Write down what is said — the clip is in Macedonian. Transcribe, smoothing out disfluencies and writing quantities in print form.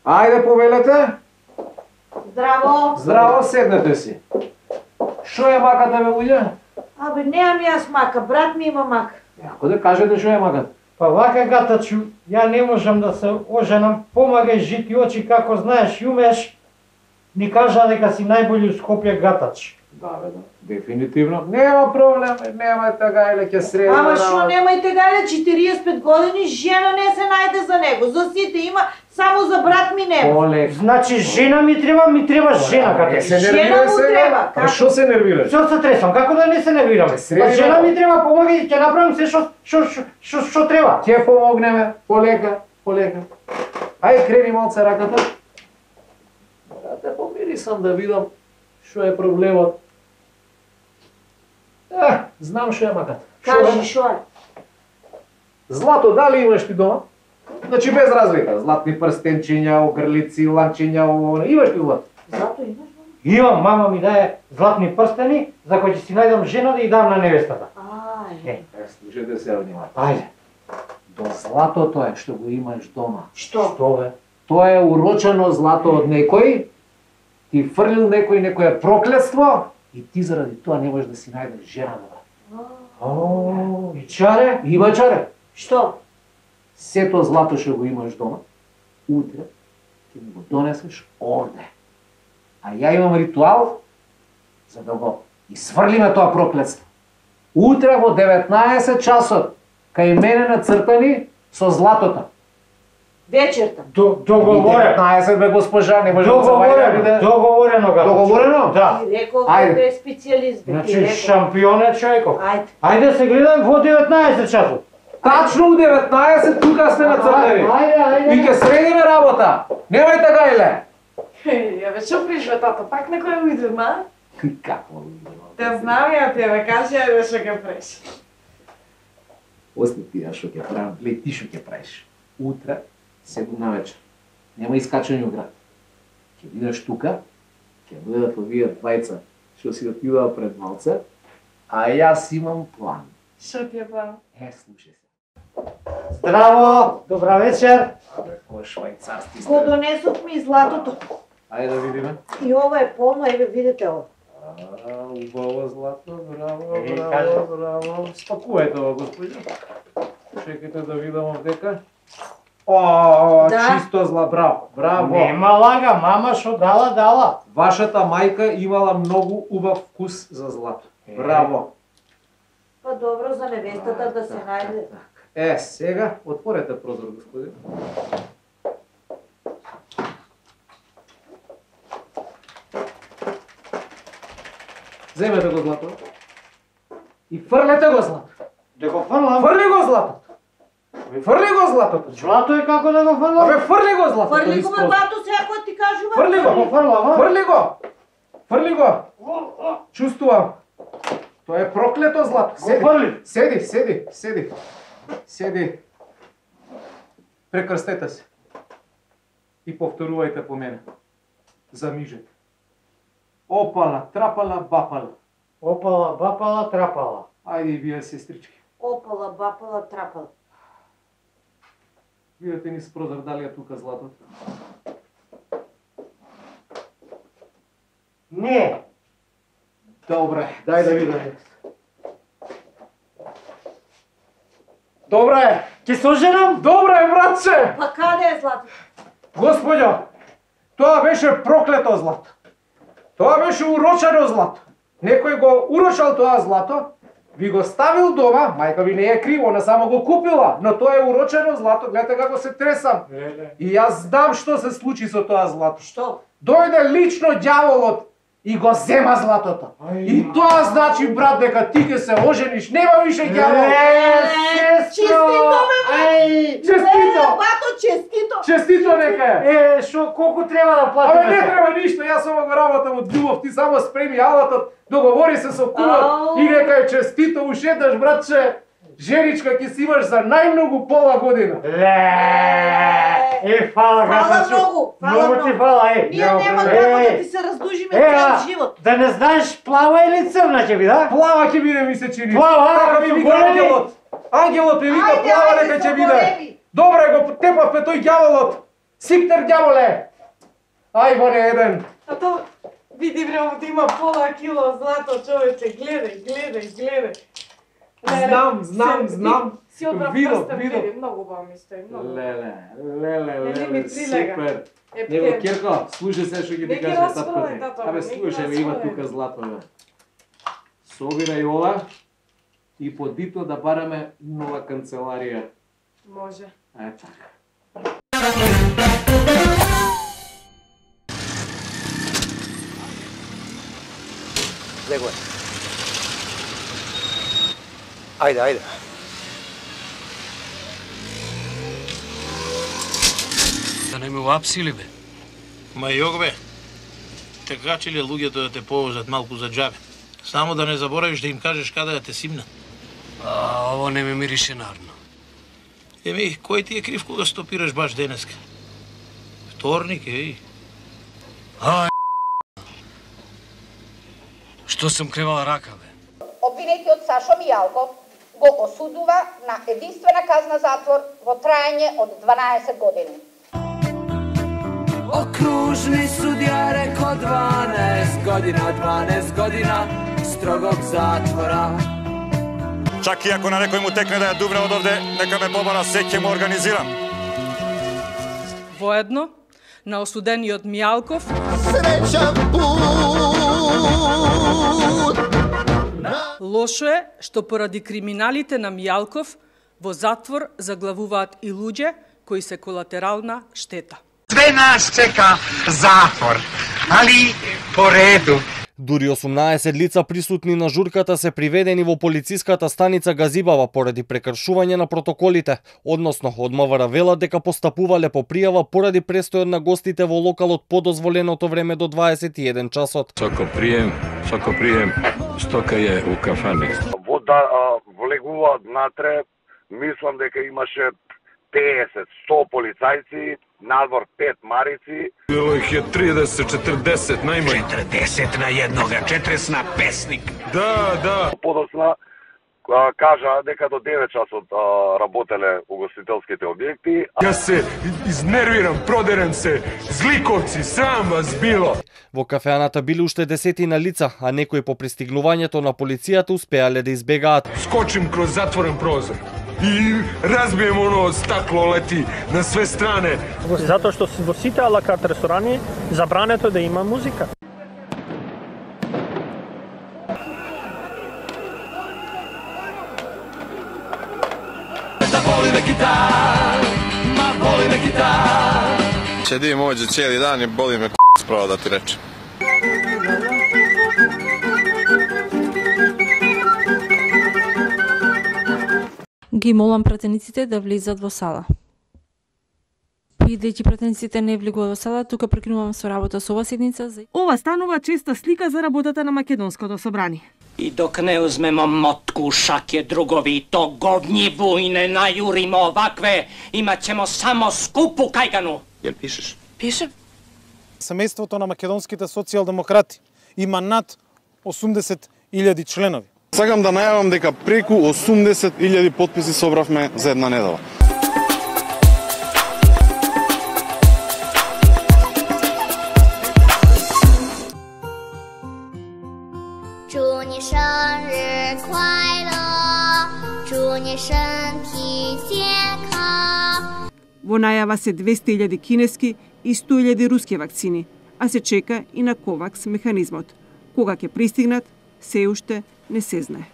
Ајде, повелете. Здраво. Здраво, седнете си. Шо е маката, бе, луѓе? Абе, немам јас мака, брат ми има мака. Ако да кажете шо е маката? Па вака гатачу, ја не можам да се оженам, помагај жити очи како знаеш и умеш. Ни кажа дека си најболи у Скопје гатач. Да, бе, да. Дефинитивно. Нема проблем, нема тагајле, ќе средим. Ама шо немајте гајле, 45 години, жена не се најде за него. За сите има, само за брат ми нема. Оле, Значи жена ми треба жена гатач. се Жена нервира му сега. треба, А шо се нервираш? Што се тресам, како да не се нервирам? средиме. Па жена ми треба, помагај, ќе направам се што треба. Ќе помогнеме, полека, полека. Ај, крени малце раката. Да те помирисам да видам шо е проблемот. Знам шо е маката. Кажи шо е? Злато, дали имаш ти дома? Значи без разлика. Златни прстенчиња, огрлици, ланчиња, имаш ли злато? Зато имаш? Имам, мама ми дае златни прстени, за кои ќе си најдам жена да ја дам на невестата. Ај. Слушайте се внимателно. Ајде. До златото е што го имаш дома. Што? Што бе? Тоа е урочено злато од некој, ти фрлил некој некое проклетство и ти заради тоа не можеш да си најдеш жена да. О, и чаре? Има чаре. Што? Сето злато што го имаш дома, утре ќе ми го донесеш овде. А ја имам ритуал за да го изврлиме тоа проклетство. Утре во 19 часот кај мене нацртани со златото. Вечерта. Договорено. 19 бе госпожа, не може да се вајде. Договорено гатач. Договорено? Да. Ти реков Ајде. дека е специјалист. бе, ти Значи реков. шампион е човеков. Ајде. Ајде се гледам во 19 часот. Тачно у 19 тука сте нацртани. Ајде. И ќе средиме работа. Немај така иле. Ја ве што пришве тато, пак некој ујде, ма? Какво? Те знам ја тебе, кажи ја што ќе преш. Ости ти ја што ќе правам, глеј ти што ќе правиш. Утре, 7 на вечер. Нема искачање у град. Ќе бидеш тука, ќе бидат овие двајца што си отидува пред малце, а јас имам план. Што ти е план? Слушај се. Здраво, добра вечер. Абе, кој швајцарски Го сте? донесов ми златото. Ајде да видиме. И ова е полно, еве видите ова. Убаво злато, браво, кажи. браво. Спакувајте ова, господине. Чекайте да видам овдека. О, Да. чисто зла, браво, браво. Нема лага, мама што дала. Вашата мајка имала многу убав вкус за злато. Браво. Па добро за невестата да се најде. Сега отворете прозор, господин. Земете го злато. И фрлете го злато. Да го фрлам. Фрли го златото. Фрли го златото. Злато е како да го фрлам? Абе, фрли го златото. Фрли го низ ме прозор. бато сега кој ти кажува. Фрли го. Го фрлам, а? Фрли го. Фрли го. Чувствувам. Тоа е проклето злато. Го фрли. Седи. Прекрстете се. И повторувајте по мене. Замижете. Опала, трапала, бапала. Опала, бапала, трапала. Ајде и вие, сестрички. Опала, бапала, трапала. Видете низ прозор дали е тука златото. Не. Добре, дај да видам. Добре, Ќе се оженам? добре, братче! Па каде е златото? Господјо, тоа беше проклето злато. Тоа беше урочено злато. Некој го урочал тоа злато, ви го ставил дома, мајка ви не е криво, она само го купила, но тоа е урочено злато, гледате како се тресам. И јас знам што се случи со тоа злато. Што? Дојде лично ѓаволот и го зема златото. И тоа значи, брат, дека ти ќе се ожениш, нема више ѓавол. Честито, бе, Ај, Честито! Бато, честито! Честито нека е! Што колку треба да платиме? Абе, не треба ништо, јас ова го работам од љубов, ти само спреми алатот, договори се со кумот и нека е честито, ушеташ, братче, женичка ќе си имаш за најмногу пола година. Фала, Фала гатачу. многу, фала Многу ти многу. фала, Ние нема како да ти се раздужиме цел живот. Да не знаеш плава или црна ќе биде, а? Плава ќе биде, ми се чини. Плава, Така ми со вика големи. ангелот. Ангелот ми вика Ајде, плава ајде, дека со ќе биде. големи. Добре, го тепавме тој ѓаволот. Сиктер ѓаволе! Ај во еден. Тато, види бре, овде има пола кило злато, човече, гледај. Знам. Си одбрав прстен, види, многу ба ми стои, многу. Леле, супер. Него Кирко, слушај се што ги ти кажа таткоте. Абе, слушај, има тука злато, бе. Собирај ова и подитно да бараме нова канцеларија. Може. Така. Лего е. Ајде. Да не ме уапсили, бе. Ма јог, бе. Така че ли луѓето да те повозат малку за џабе? Само да не заборавиш да им кажеш каде да те симна. Ово не ме мирише нарно. Еми, кој ти е крив кога стопираш баш денеска? Вторник, Што сум кревала рака, бе? Обвинетиот Сашо Мијалков го осудува на единствена казна затвор во трајање од 12 години. Окружни судија реко 12 година строгог затвора. Чак и ако на некој му текне да ја дувне од овде, нека ме побара, се ќе му организирам. Воедно, на осудениот Мијалков, Среќан пут! лошо е што поради криминалите на Мијалков во затвор заглавуваат и луѓе кои се колатерална штета. Све нас чека затвор, али по реду. Дури 18 лица присутни на журката се приведени во полициската станица Газибава поради прекршување на протоколите, односно од МВР велат дека постапувале по пријава поради престојот на гостите во локалот по дозволеното време до 21 часот. Сако прием, стока е у кафани. Вода влегуваат натре, мислам дека имаше 50-100 полицајци, надвор 5 марици. Било их е 30-40 најмај. 40 на еднога, 40 на песник. Да. Подоцна кажа дека до 9 часот работеле угостителските објекти. Јас се изнервирам, продерем се, зликовци, срам вас било. Во кафеаната биле уште десетина лица, а некои по пристигнувањето на полицијата успеале да избегаат. Скочим кроз затворен прозор и разбием оно стакло, лети на све стране. Затоа што во сите алакарт ресторани забрането да има музика. Седим овде цели дан и боли ме справа да ти речем. Ги молам пратениците да влизат во сала. Бидејќи пратениците не влегуваат во сала, тука прекинувам со работа со ова седница. Ова станува честа слика за работата на Македонското собрание. И док не узмемо мотку, шаке, другови, то говни бујне најуримо овакве, имаќемо само скупу кајгану. Јел пишеш? Пишем. Семејството на македонските социјалдемократи има над 80.000 членови. Сакам да најавам дека преку 80.000 потписи собравме за една недела. Во најава се 200.000 кинески и 100.000 руски вакцини, а се чека и на ковакс механизмот. Кога ќе пристигнат, се уште не се знае.